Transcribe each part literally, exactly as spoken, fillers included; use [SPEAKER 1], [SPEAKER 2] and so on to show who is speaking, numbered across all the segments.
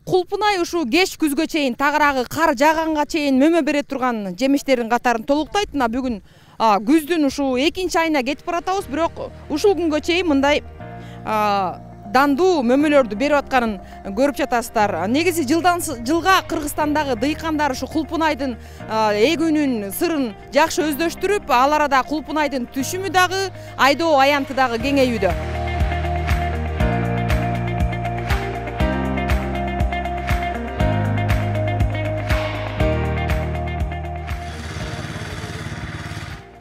[SPEAKER 1] Кулпунай ушул кеч күзгө чейин тагыраагы кар жааганга чейин мөмө бере турган жемиштердин катарын толуктайт. Мына бүгүн күздүн ушул экинчи айына кетип баратабыз, бирок ушул күнгө чейин мындай дандуу мөмөлөрдү берип атканын көрүп жатасыздар. Негизи жылдан жылга Кыргызстандагы дыйкандар ушу кулпунайдын эгүүнүн сырын жакшы өздөштүрүп, ал арада кулпунайдын түшүмү дагы, айдоо аянты дагы кеңейүүдө.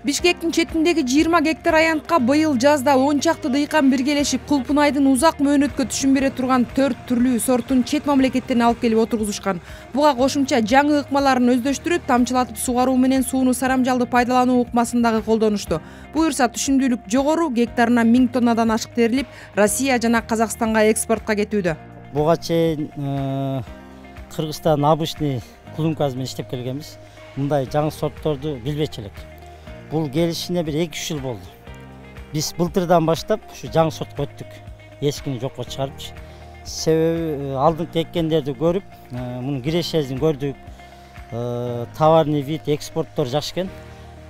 [SPEAKER 1] Бишкектин четиндеги жыйырма гектар аянтка быйыл жазда он чакты дыйкан биргелешип кулпунайдын узак мөөнөткө түшүм бере турган төрт түрлүү сортун чет мамлекеттен алып келип отургузушкан. Буга кошумча жаңы ыкмаларын өздөштүрүп, тамчылатып сугаруу менен сууну сарамжалды пайдалануу ыкмасын дагы колдонушту. Буюрса түшүмдүүлүк жогору, гектарына миң тоннадан ашык терилип, Россия жана Казакстанга экспортко кетүүдө.
[SPEAKER 2] Буга чейин Кыргызстан обычный клумкасы менен иштеп келгенбиз. Мындай жаңы сортторду билбечү элек. Бул келишине бир эки үч жыл болду. Биз былтырдан баштап ушу жаңы сортко өттүк. Эскини жокко чыгарыпчы. Себеби алдыңкы эккендерди көрүп, мунун кирешесин көрдүк. Товарный вид, экспорттор жакшы экен.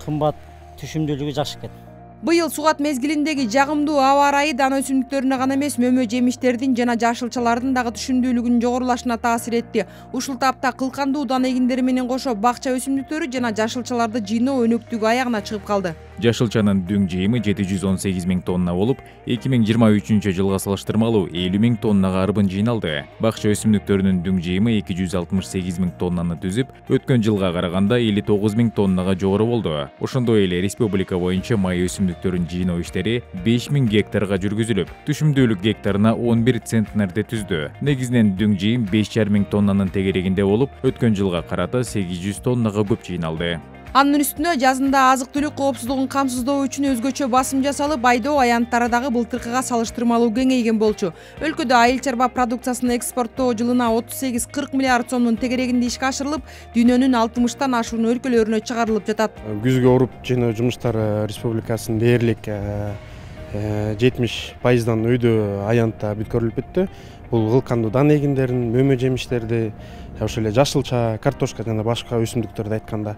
[SPEAKER 2] Кымбат, түшүмдүүлүгү жакшы экен.
[SPEAKER 1] Быйыл сугат мезгилиндеги жагымдуу аба ырайы дан өсүмдүктөрүнө гана эмес, мөмө жемиштердин жана жашылчалардын дагы түшүмдүүлүгүнүн жогорулашына таасир этти. Ушул тапта кылкандуу дан эгиндери менен кошо бакча өсүмдүктөрү жана жашылчаларды жыйноо өнөктүгү аягына чыгып калды.
[SPEAKER 3] Жашылчанын дүң жыйымы жети жүз он сегиз миң тонна болуп, эки миң жыйырма үчүнчү жылга салыштырмалуу элүү миң тоннага арбын жыйналды. Бакча өсүмдүктөрүнүн дүң жыйымы эки жүз алтымыш сегиз миң тоннаны түзүп, өткөн жылга караганда элүү тогуз миң тоннага жогору болду. Ошондой эле республика боюнча май өсүмдүктөрүн жыйноо иштери беш миң гектарга жүргүзүлүп, түшүмдүүлүк гектарына он бир центнерди түздү. Негизинен дүң жыйым беш жарым миң тоннанын тегерегинде болуп, өткөн жылга карата сегиз жүз тоннага көп жыйналды.
[SPEAKER 1] Анын үстүнө жазында азык-түлүк коопсуздугун камсыздоо үчүн өзгөчө басым жасалып, айдоо аянттары дагы былтыркыга салыштырмалуу кеңейген болчу. Өлкөдө айыл чарба продукциясын экспорттоо жылына отуз сегиз кырк миллиард сомдун тегерегинде ишке ашырылып, дүйнөнүн алтымыштан ашуун өлкөлөрүнө чыгарылып жатат.
[SPEAKER 4] Күзгө уруп жыйноо жумуштары республикасынын дээрлик жетимиш пайыздан өйдө аянтта бүткөрүлүп бүттү. Бул кылкандуу дан эгиндерин, мөмө жемиштерди, ошол эле жашылча, картошка жана башка өсүмдүктөрдү айтканда.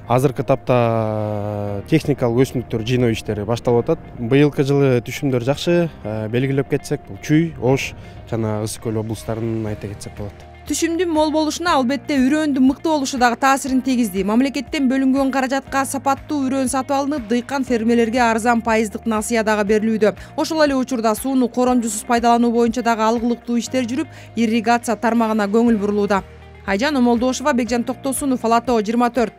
[SPEAKER 4] Азыркы тапта техникалык өсүмдүктөр жыйноо иштери башталып атат. Быйылкы жылы түшүмдөр жакшы, белгилеп кетсек, бул Чүй, Ош жана Ысык көл облустарын айта кетсек болот.
[SPEAKER 1] Түшүмдүн мол болушуна албетте үрөөндүн мыкты болушу дагы таасирин тийгизди. Мамлекеттен бөлүнгөн каражатка сапаттуу үрөөн сатып алынып, дыйкан фермерлерге арзан пайыздык насыя дагы берилүүдө. Ошол эле учурда сууну коромжусуз пайдалануу боюнча дагы алгылыктуу иштер жүрүп, ирригация тармагына көңүл бурулууда. Айжан Омолдошова, Бекжан Токтосунов, Ала Тоо жыйырма төрт.